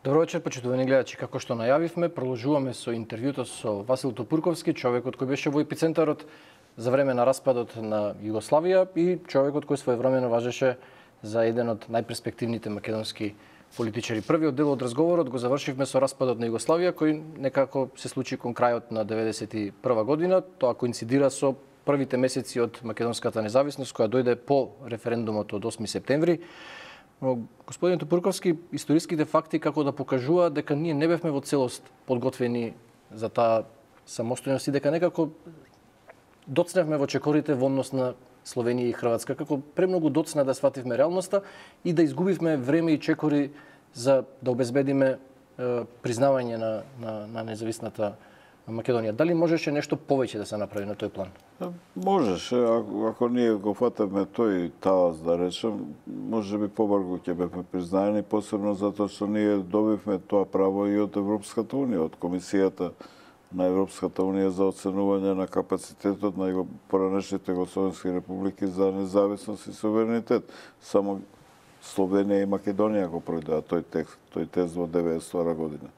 Добро вечер, почитувани гледачи. Како што најавивме, продолжуваме со интервјуто со Васил Топурковски, човекот кој беше во епицентарот за време на распадот на Југославија и човекот кој своевремено важеше за еден од најперспективните македонски политичари. Првиот дел од разговорот го завршивме со распадот на Југославија, кој некако се случи кон крајот на 91 година. Тоа коинцидира со првите месеци од македонската независност, која дојде по референдумот од 8 септември. Но, господин Топурковски, историските факти како да покажуваат дека ние не бевме во целост подготвени за таа самостојност и дека некако доцневме во чекорите во однос на Словенија и Хрватска, како премногу доцна да свативме реалноста и да изгубивме време и чекори за да обезбедиме признавање на независната Македонија. Дали можеше нешто повеќе да се направи на тој план? Можеше, ако ние го фатаме тој талас, да речем, може би побрзо ќе бевме признаени, посебно затоа што ние добивме тоа право и од Европската унија, од Комисијата на Европската унија за оценување на капацитетот на поранешните југословенски републики за независност и суверенитет. Само Словенија и Македонија го пројдоа тој тест во 1992 година.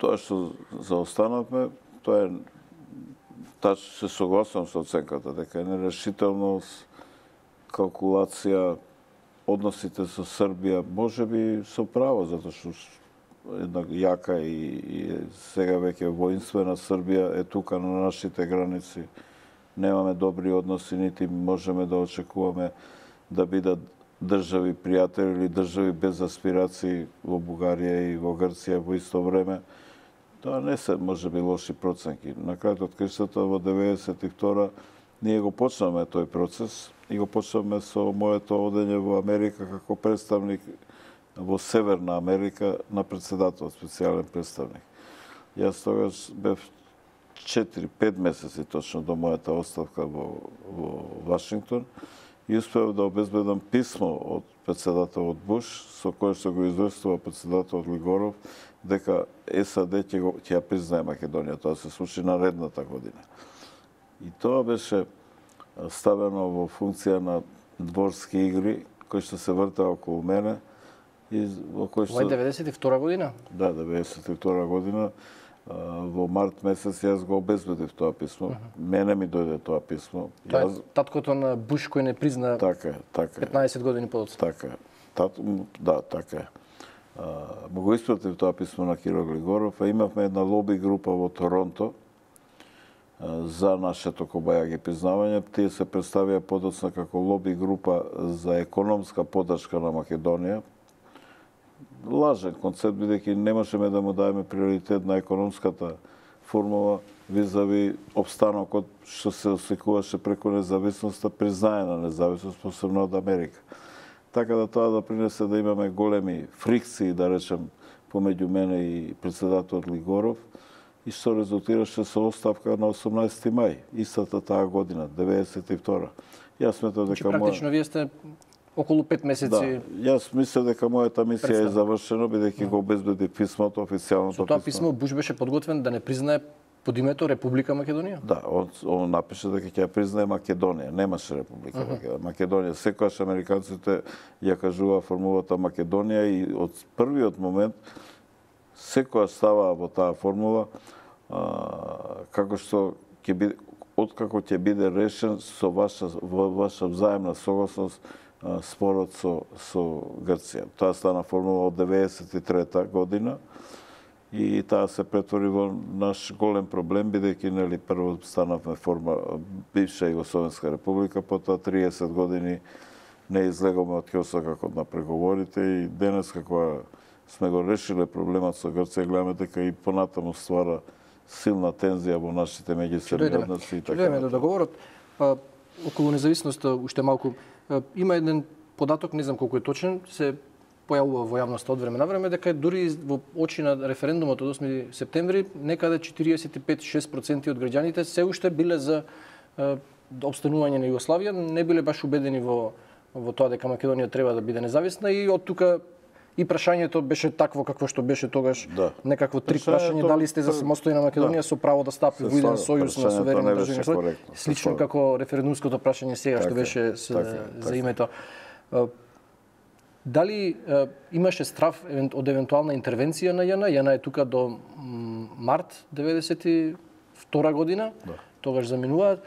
Тоа што заостанавме, тоа е се согласувам со оценката дека е нерешителност, калкулација, односите со Србија, можеби со право, затоа што една јака и сега веќе воинствена Србија е тука на нашите граници. Немаме добри односи, нити можеме да очекуваме да бидат држави пријатели или држави без аспирации во Бугарија и во Грција во исто време. Тоа не се можеби лоши проценки. На крајот од краиштата во 92 ние го почнавме тој процес и го почнавме со моето одење во Америка како представник во Северна Америка на председател, специјален представник. Јас тогаш бев 4-5 месеци точно до мојата оставка во Вашингтон и успеав да обезбедам писмо од председателот Буш, со кое што го известува председателот Глигоров, дека САД ќе ја признае Македонија. Тоа се случи наредната година. И тоа беше ставено во функција на дворски игри, кои што се вртаа околу мене. Ова е 92 година? Да, 92 година. Во март месец јас го обезбедив тоа писмо. Мене ми дојде тоа писмо. Тоа е таткото на Буш кој не призна така, 15 години подоцна. Така. Да, така е. Му го испратив тоа писмо на Киро Глигоров, а имавме една лоби група во Торонто за нашето кобајаги признавање. Тие се представија подоцна како лоби група за економска поддршка на Македонија. Лажен концепт, бидејќи не можеме да му даеме приоритет на економската формула визави обстанокот што се осекуваше преку независноста, признаена независност, посебно од Америка. Така да тоа допринесе да имаме големи фрикции, да речем, помеѓу мене и председателот Глигоров, и што резултираше со оставка на 18 мај, истата таа година, 92. Јас сметам дека практично вие сте околу 5 месеци. Да, јас мислам дека мојата мисија е завршена, бидејќи го обезбеди писмото, официјалното писмо. Со тоа писмо Буш беше подготвен да не признае под името Република Македонија? Да, он напише дека ќе ја признае Македонија, немаше Република Македонија. Секогаш американците ја кажуваа формулата Македонија и од првиот момент секогаш ставаа во таа формула како што ќе биде, откако ќе биде решен со ваша взаемна согласност спорот со Грција. Таа стана формула од 93 година и таа се претвори во наш голем проблем, бидејќи нели прво станавме бивша Југословенска република, потоа 30 години не излеговме од ќосакот на преговорите и денес кога сме го решиле проблемот со Грција, гледаме дека и понатаму ствара силна тензија во нашите меѓусебни односи и така. Дојдеме до договорот. Околу независноста уште малку. Има еден податок, не знам колку е точен, се појавува во јавноста од време на време, дека дури во очи на референдумот од 8 септември, некаде 45-6% од граѓаните се уште биле за обстанување на Југославија, не биле баш убедени во тоа дека Македонија треба да биде независна и од тука и прашањето беше такво какво што беше тогаш, некакво трик прашање, дали сте за самостојна Македонија со право да стапи во еден сојуз на суверени држави, слично како референдумското прашање сега што беше за името. Дали имаше страв од евентуална интервенција на ЈН? ЈН е тука до март 92 година, тогаш заминуваат,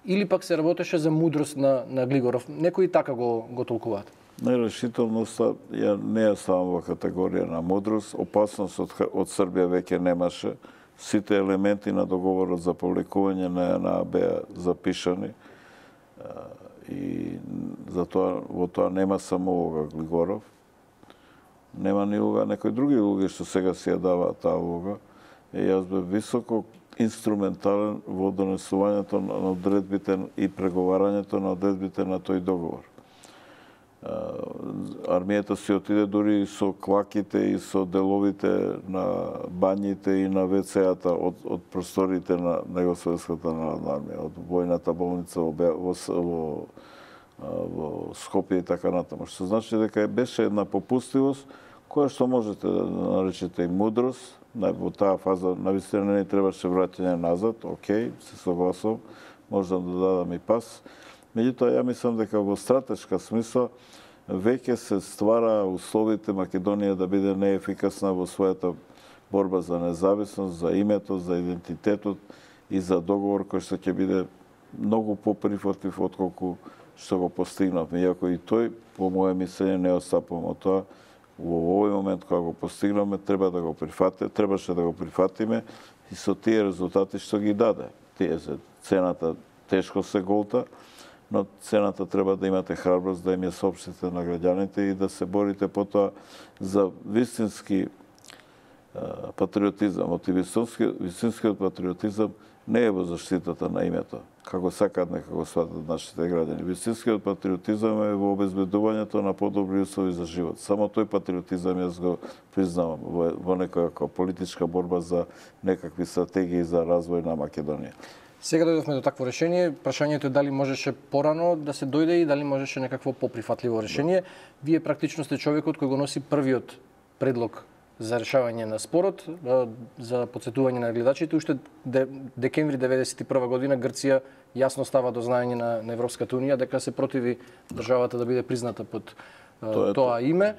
или пак се работеше за мудрост на Глигоров? Некои така го толкуваат. Нерешителноста не е само во категорија на мудрост. Опасност од Србија веќе немаше. Сите елементи на договорот за повлекување на ЈНА беа запишани. И затоа во тоа нема само улога Глигоров. Нема ни улога некои други улоги што сега си ја даваат таа улога. Јас бев високо инструментален во донесувањето на одредбите и преговарањето на одредбите на тој договор. Армијата си отиде дури и со клаките и со деловите на бањите и на ВЦ-ата од просториите на Југословенската народна армија, од војната болница во Скопје и така натаму. Што значи дека беше една попустивост која што можете да наречете и мудрост. Во таа фаза навистина не требаше враќање назад, окей, се согласувам, можам да дадам и пас. Меѓутоа, ја мислам дека во стратешка смисла веќе се ствара условите Македонија да биде неефикасна во својата борба за независност, за името, за идентитетот и за договор кој што ќе биде многу поприфатлив отколку што го постигнавме. Иако и тој, по моје мислење, не отстапувам од тоа. Во овој момент кога го постигнавме, требаше да го прифатиме и со тие резултати што ги даде. Цената тешко се голта, но цената треба да имате храброст да им ја соопштите на граѓаните и да се борите потоа за вистински патриотизам. Вистинскиот патриотизам не е во заштитата на името, како сакаат нека го сватат нашите граѓани. Вистинскиот патриотизам е во обезбедувањето на подобри услови за живот. Само тој патриотизам јас го признавам во некоја политичка борба за некакви стратегии за развој на Македонија. Сега дојдовме до такво решение. Прашањето е дали можеше порано да се дојде и дали можеше некакво поприфатливо решение. Вие практично сте човекот кој го носи првиот предлог за решавање на спорот. За подсетување на гледачите, уште декември 1991 година Грција јасно става до знаење на Европската унија дека се противи државата да биде призната под тоа име.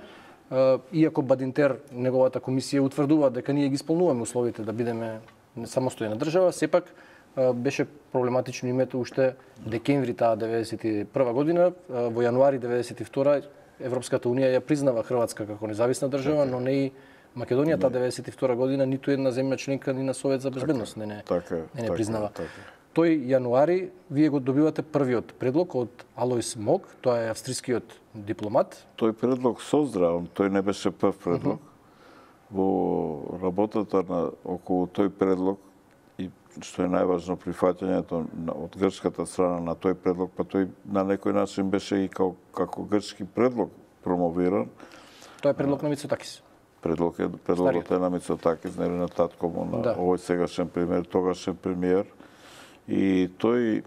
Иако Бадинтер, неговата комисија, утврдува дека ние ги исполнуваме условите да бидеме самостојна држава, сепак беше проблематично името уште декември таа 91 година. Во јануари 92 Европската унија ја признава Хрватска како независна држава, но не и Македонија. Таа 92 година ниту една земја членка ни на Совет за безбедност не признава. Тој јануари вие го добивате првиот предлог од Алојс Мог, тоа е австрискиот дипломат. Тој предлог создрав, тој не беше прв предлог. Во работата околу тој предлог и што е најважно прифаќањето од грчката страна на тој предлог, па тој на некој начин беше и како грчки предлог промовиран. Тоа е предлог на Мицотакис. Предлогот е на Мицотакис, нели на татко му, на овој сегашен премиер, тогашен премиер. И тој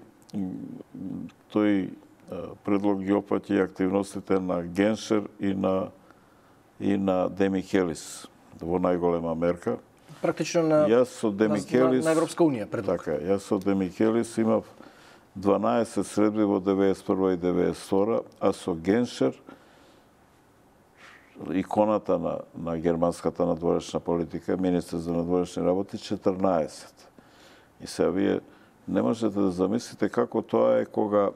предлог ги опфаќа активностите на Геншер и на Демикелис во најголема мерка. Практично на Европска унија предлог. Така, јас со Демикелис имав 12 средби во 91 и 92, а со Геншер, иконата на германската надворешна политика, министер за надворешни работи, 14. И сега вие не можете да замислите како тоа е кога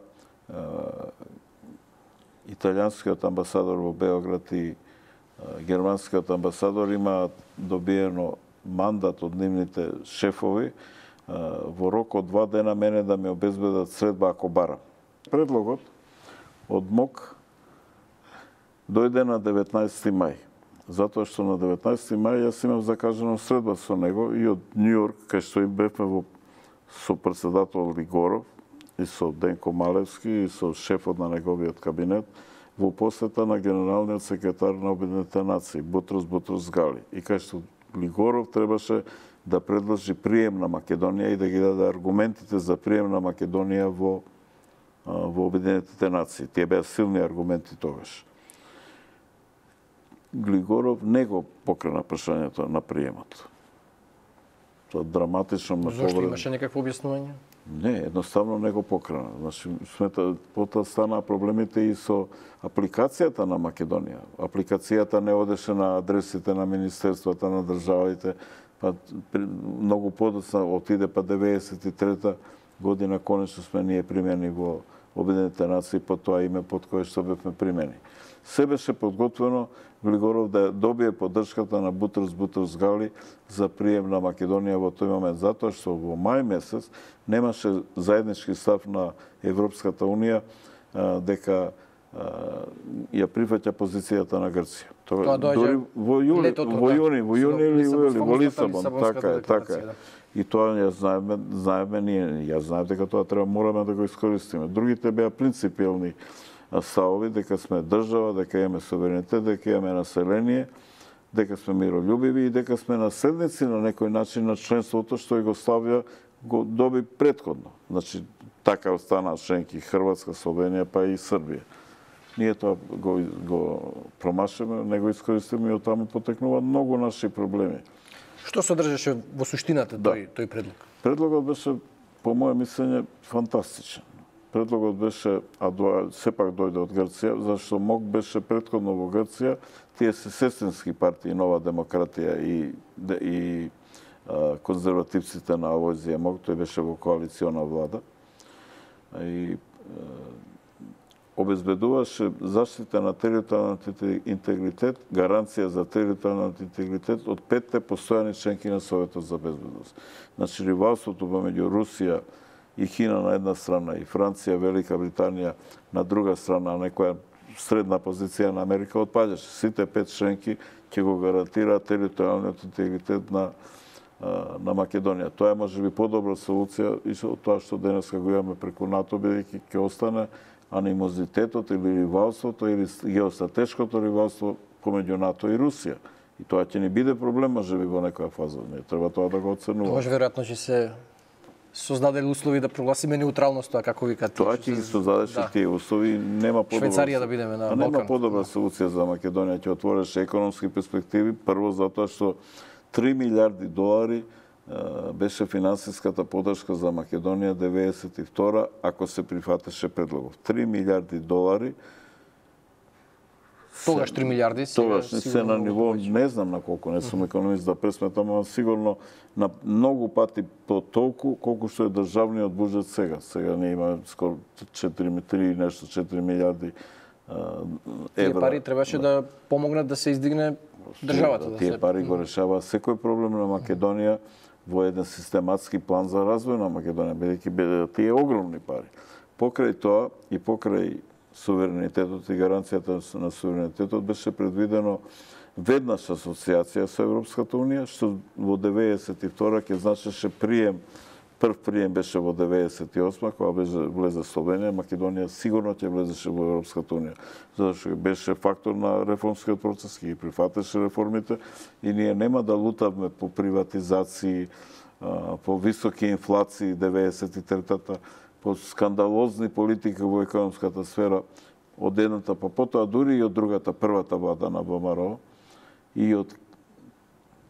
италијанскиот амбасадор во Београд и германскиот амбасадор има добиено мандат од нивните шефови во рок од 2 дена мене да ми обезбедат средба ако барам. Предлогот од МОК дојде на 19 мај, затоа што на 19 мај јас имам закажано средба со него и од Њујорк, кај што им бевме со председател Глигоров и со Денко Малевски и со шефот на неговиот кабинет во посета на генералниот секретар на Обединетите нации Бутрус Гали. И кај што Глигоров требаше да предложи прием на Македонија и да ги даде аргументите за прием на Македонија во Обединетите нации. Тие беа силни аргументи тогаш. Глигоров не го покрена прашањето на приемот. Тоа драматично ме повреди. Зошто имаше некакво објаснување? Не, едноставно не го покрена. Значи, потоа стана проблемите и со апликацијата на Македонија. Апликацијата не одеше на адресите на министерствата, на државите, па многу подоцна отиде па 93-та година конечно сме ние примени во Обединетите нации по тоа име под кое што бевме примени. Се беше подготвено Глигоров да добие поддршката на Бутрус Гали за прием на Македонија во тој момент, затоа што во мај месец немаше заеднички став на Европската Унија дека ја прифаќа позицијата на Грција. Тоа дори во јуни или во Лисабон, така е. И тоа ја знаеме ние, ја знаев дека тоа мораме да го искористиме. Другите беа принципиелни ставови дека сме држава, дека имаме суверенитет, дека имаме население, дека сме миролюбиви и дека сме наследници на некој начин на членството што Југославија го доби претходно. Значи, така останаа членки Хрватска, Словенија, па и Србија. Ние тоа го промашеме, не го искористиме и оттаму потекнуваат многу наши проблеми. Што содржеше во суштината тој предлог? Предлогот беше, по моје мислење, фантастичен. Предлогот беше, сепак дојде од Грција, зашто МОК беше претходно во Грција, тие се сестрински партии, Нова демократија и конзервативците на Алојзија МОК, тој беше во коалициона влада. И обезбедуваше заштита на територијалниот интегритет, гаранција за територијалниот интегритет од 5 постојани членки на Советот за безбедност. Значи, ривалството помеѓу Русија и Кина на една страна и Франција, Велика Британија на друга страна, некоја средна позиција на Америка отпаѓаше. Сите 5 членки ќе го гарантираат територијалниот интегритет на Македонија. Тоа е можеби подобра солуција и од тоа што денеска го имаме преку НАТО, бидејќи ќе остане анимозитетот или ривалството или геостратешкото ривалство помеѓу НАТО и Русија. И тоа ќе ни биде проблем можеби во некоја фаза. Не треба тоа да го оценуваме. Тоа веројатно ќе се создадени услови да прогласиме неутралност, тоа како викате. Тоа ќе ги создадеше тие услови, нема подобра. Швајцарија да бидеме на Балкан. Нема подобра солуција за Македонија, ќе отвореше економски перспективи, прво затоа што 3 милиарди долари беше финансиската поддршка за Македонија 92 ако се прифатеше предлогов. 3 милиарди долари. Тогаш 3 милиарди тогаш се на ниво, не знам на колку, не сум економист да пресметам, но сигурно на многу пати по толку колку што е државниот буџет сега. Сега не има скоро 4 милиарди евра. Тие пари требаше да помогнат да се издигне државата. Тие пари го решава секој проблем на Македонија во еден систематски план за развој на Македонија, бидејќи тие огромни пари. Покрај тоа и покрај суверенитетот и гаранцијата на суверенитетот беше предвидено веднаш асоциација со Европската Унија, што во 92 ќе значеше прием. Прв прием беше во 98 кога влезе Словенија, Македонија сигурно ќе влезеше во Европската Унија, зашто беше фактор на реформскиот процес, ќе ги прифатеше реформите и ние нема да лутавме по приватизации, по високи инфлации 93-та, по скандалозни политики во економската сфера од едната па потоа дури и од другата, првата влада на ВМРО и од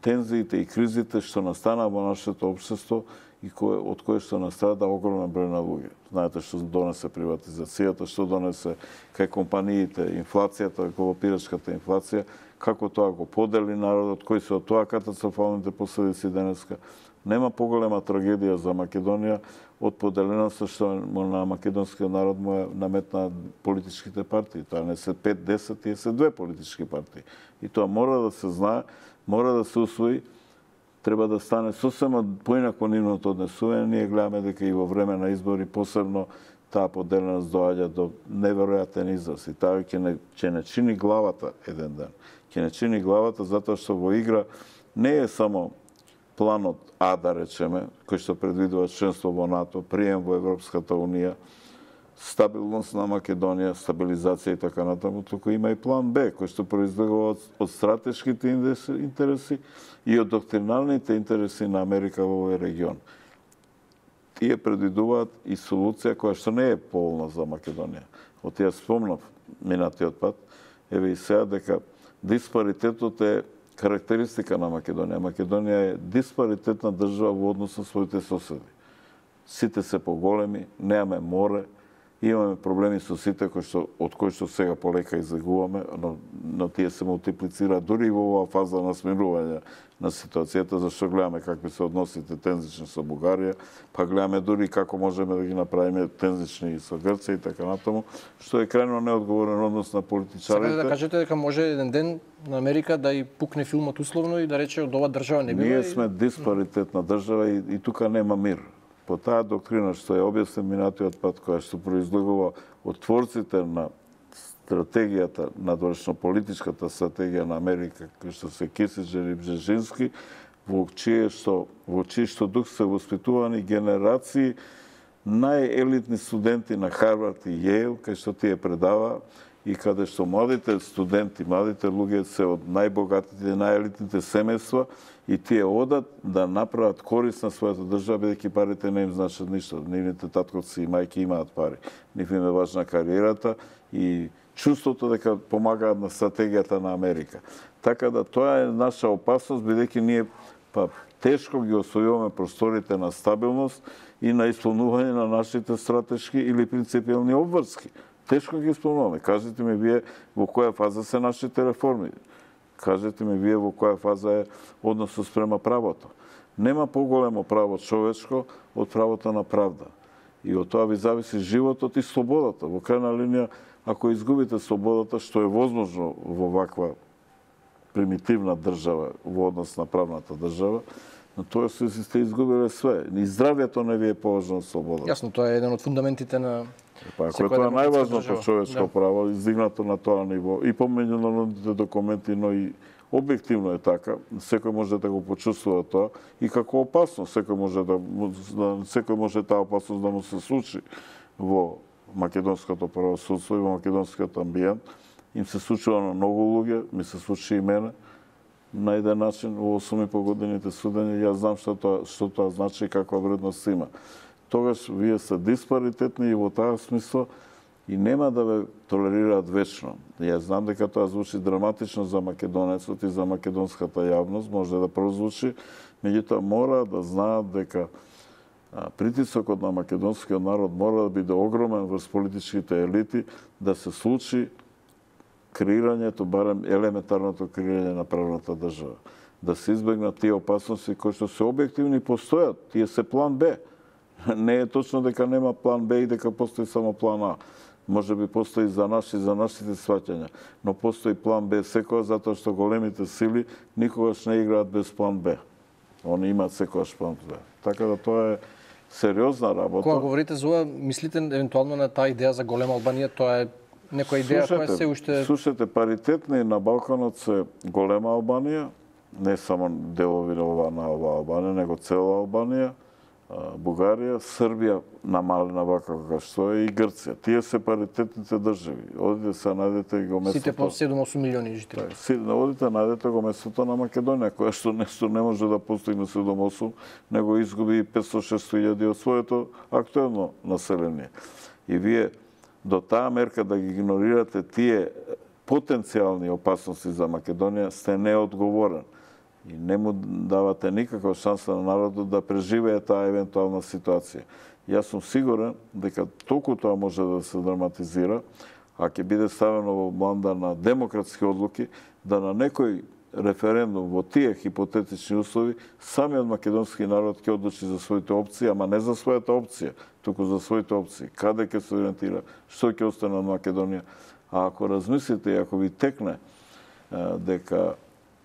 тензиите и кризите што настана во нашето општество и од кое што настрада огромен број на луѓе. Знаете што донесе приватизацијата, што донесе кај компаниите, инфлацијата, галопирачката инфлација, како тоа го подели народот, кои се од тоа катастрофалните последици денеска. Нема поголема трагедија за Македонија од поделеноста што на македонскиот народ му наметна политичките партии. Тоа не се 5-10, тие се 2 политички партии. И тоа мора да се знае, мора да се усвои, треба да стане сосема поинако нивното однесување. Ние гледаме дека и во време на избори посебно таа поделеност доаѓа до неверојатен израз. И таа ќе не чини главата еден ден. Ќе не чини главата затоа што во игра не е само планот А, да речеме, кој што предвидува членство во НАТО, прием во Европската Унија, стабилност на Македонија, стабилизација и така натаму, туку има и план Б, кој што произлегува од стратешките интереси и од доктриналните интереси на Америка во овој регион. Тие предвидуваат и солуција која што не е полна за Македонија. Од ја спомнав минатиот пат, еве и сега дека диспаритетот е карактеристика на Македонија. Македонија е диспаритетна држава во однос на своите соседи. сите се поголеми, немаме море, имаме проблеми со сите од кои што сега полека излегуваме, но тие се мултиплицираат дури и во оваа фаза на смирување на ситуацијата, зашто гледаме какви се односите тензични со Бугарија, па гледаме дури како можеме да ги направиме тензични со Грција и така натаму, што е крајно неодговорен однос на политичарите. Сакате да кажете дека може еден ден на Америка да и пукне филмот условно и да рече од оваа држава не бива? Ние сме диспаритетна држава и тука нема мир. По таа доктрина што ја објаснив минатиот пат, која што произлегува од творците на стратегијата, надворешно политичката стратегија на Америка, кој што се Кисинџер и Бжежински, во чиј што дух се воспитувани генерации најелитни студенти на Харвард и Јейл, кај што тие предава и каде што младите студенти, младите луѓе се од најбогатите, најелитните семејства и тие одат да направат корист на својата држава, бидејќи парите не им значат ништо. Нивните татковци и мајки имаат пари. Нив им е важна кариерата и чувството дека помагаат на стратегијата на Америка. Така да тоа е наша опасност, бидејќи ние тешко ги освојуваме просторите на стабилност и на исполнување на нашите стратешки или принципиални обврски. Тешко ги исполнуваме. Кажете ми вие во која фаза се нашите реформи. Кажете ми вие во која фаза е односот спрема правото. Нема поголемо право човечко од правото на правда. И од тоа ви зависи животот и слободата. Во крајна линија, ако изгубите слободата, што е возможно во ваква примитивна држава, во однос на правната држава, но тоа сте изгубиле све. И здравјето не ви е поважно од слободата. Јасно, тоа е еден од фундаментите на ако тоа е најважното човечко право, издигнато на тоа ниво, и по меѓународните документи, но и објективно е така, секој може да го почувствува тоа и како опасност, секој може таа опасност да му се случи во македонското правосудство и во македонскиот амбиент. Им се случува на многу луѓе, ми се случи и мене, на еден начин во 8,5 годините судење, јас знам што тоа значи и каква вредност има. Тогаш вие се диспаритетни и во таа смисла и нема да ве толерираат вечно. Јас знам дека тоа звучи драматично за македонецот и за македонската јавност, може да прозвучи, меѓутоа мора да знаат дека притисокот на македонскиот народ мора да биде огромен врз политичките елити да се случи креирањето, барем елементарното креирање на правната држава. Да се избегнат тие опасности кои што се објективни постојат, тие се план Б. Не е точно дека нема план Б и дека постои само план А. Може би постои за нас и за нашите сваќања, но постои план Б секоја затоа што големите сили никогаш не играат без план Б. Они имаат секогаш план Б. Така да тоа е сериозна работа. Кога говорите за ова, мислите евентуално на таа идеја за голема Албанија, тоа е некоја идеја која се уште... Слушате, паритетни на Балканот се голема Албанија, не само делови на оваа Албанија, него цела Албанија, Бугарија, Србија намалена вака како што е и Грција. Тие се паритетните држави. Одите се најдете го местото. Сите по 7-8 милиони жители. Одите најдете го местото на Македонија, која што нешто не може да постигне 7-8, него изгуби 500-600 илјади од своето актуелно население. И вие до таа мерка да ги игнорирате тие потенцијални опасности за Македонија, сте неодговорен. И не му давате никаква шанса на народот да преживее таа евентуална ситуација. Јас сум сигурен дека толку тоа може да се драматизира, а ќе биде ставено во бланда на демократски одлуки, да на некој референдум во тие хипотетични услови, самиот македонски народ ќе одлучи за своите опции, ама не за својата опција, туку за своите опции. Каде ќе се ориентира, што ќе остане од Македонија. А ако размислите и ако ви текне дека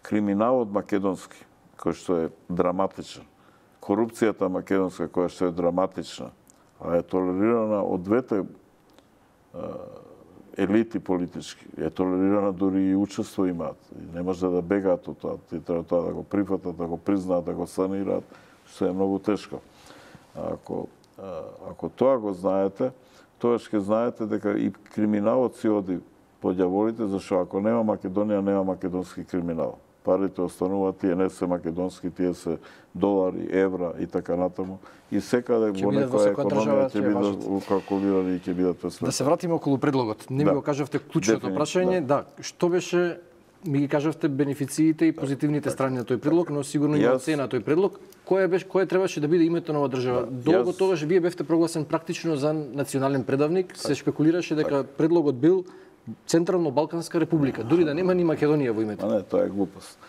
криминалот македонски, кој што е драматичен, корупцијата македонска, која што е драматична, а е толерирана од двете елити политички, е толерирана дури и учество имаат. Не може да бегаат од тоа. Ти треба тоа да го прифатат, да го признаат, да го санираат, што е многу тешко. Ако тоа го знаете, тоа ќе знаете дека и криминалот си оди по ѓаволите, зашто ако нема Македонија, нема македонски криминал. Парите остануваат, тие не се македонски, тие се долари, евра и така натаму. И секаде во некоја економија ќе бидат укалкулирани и ќе бидат пресметани. Да се вратиме околу предлогот. Не ми го кажавте клучното прашање. Да, што беше ми ги кажавте бенефициите и позитивните страни на тој предлог, но сигурно има цена тој предлог. Кое требаше да биде името на оваа држава? Долго тогаш вие бевте прогласен практично за национален предавник, се шпекулираше дека предлогот бил Централно-Балканска република, дури да нема ни Македонија во името. Не, тоа е глупост.